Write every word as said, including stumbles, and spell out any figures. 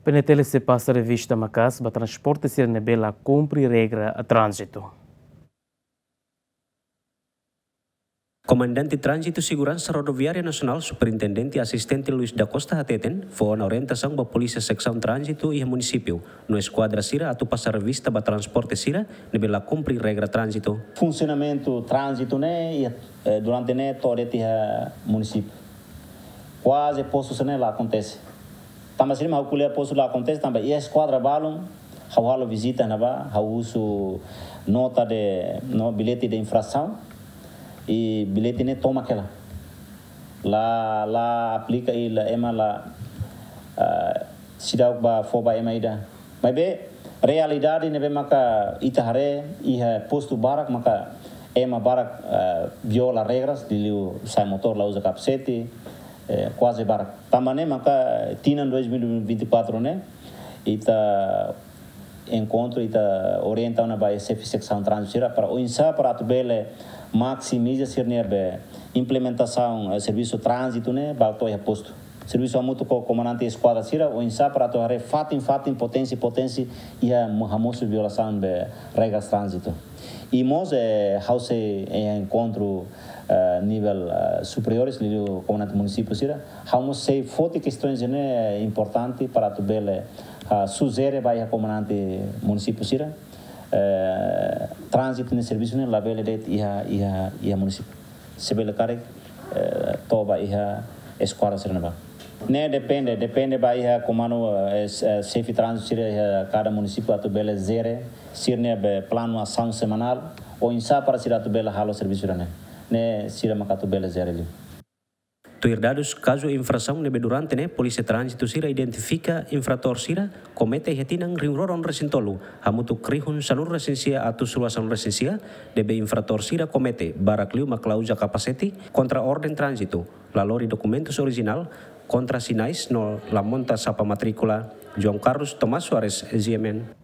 P N T L sei pasa revista maka'as ba transporte sira ne'ebé la kumpre regra tránzitu. Komandante Tránzitu Seguransa Rodoviária Nasionál, Superintendente Asistente Luis da Costa hateten, fó ona orientasaun ba Polísia Seksaun Tránzitu iha munisípiu no eskuadra sira atu pasa revista ba transporte sira ne'ebé la kumpre regra tránzitu. Funsionamentu tránzitu ne'e, iha, eh, durante ne'e to'o de'it iha munisípiu. Kuaze postu sira-ne'e la akontese. Tanba sira-ne'e ha'u ko'alia postu la akontese, tanba iha eskuadra balun, ha'u halo vizita ne'ebá, ha'u husu nota de, no, bilhete de infrasaun, i bilhete ne'e tomak hela. La, la aplika i la ema la, ah, seidauk bá fó ba ema ida. Maibé, realidade ne'ebé maka ita haree iha postu barak maka ema barak, eh, viola regras, liuliu sa'e motór la uza kapasete, eh, kuaze barak. Tanba ne'e maka tinan dois mil e vinte e quatro ne'e, ita enkontru, ita orienta ona ba xefe seksaun tránzitu sira para oinsá para atu bele maksimiza sira-nia be implementasaun, eh, servisu tránzitu ne'e ba to'o iha postu. Servisu hamutuk ho komandante eskuadra sira, oinsá para atu haree fatin-fatin, potensi-potensi iha mo-, hamosu violasaun be regras tránzitu. I mós, eh, ha'u sei, eh, enkontru, eh, nivel, eh, superiores, liuliu komandante munisípiu sira, ha'u mós sei foti kestaun ne'e importante para atu bele, ah, sujere ba iha komandante munisípiu sira, eh, tránzitu ne'e servisu ne'e labele de'it iha, iha, iha munisípiu. Se bele karik, eh, toba iha eskuadra sira-ne'ebá. Ne'e depende, depende ba iha komandu, eh, es-, eh, xefe tránzitu sira iha kada munisípiu atu bele jere sira-nia be planu asaun semanál, oinsá para sira atu bele halo servisu sira-ne'e. Ne'e sira maka atu bele jere liu. Tuir dadus kazu infrasaun ne'ebé durante ne'e, polísia tránzitu sira identifika infratór sira komete iha tinan rihun rua ruanulu resin tolu, hamutuk rihun sanulu resin sia atus rua sanulu resin sia, ne'ebé infratór sira komete barak liu mak la uza kapasete, kontra orden tránzitu, la lori dokumentus orijinál, kontra sinais no la monta sapa matríkula. João Carlos Tomás Soares, G M N.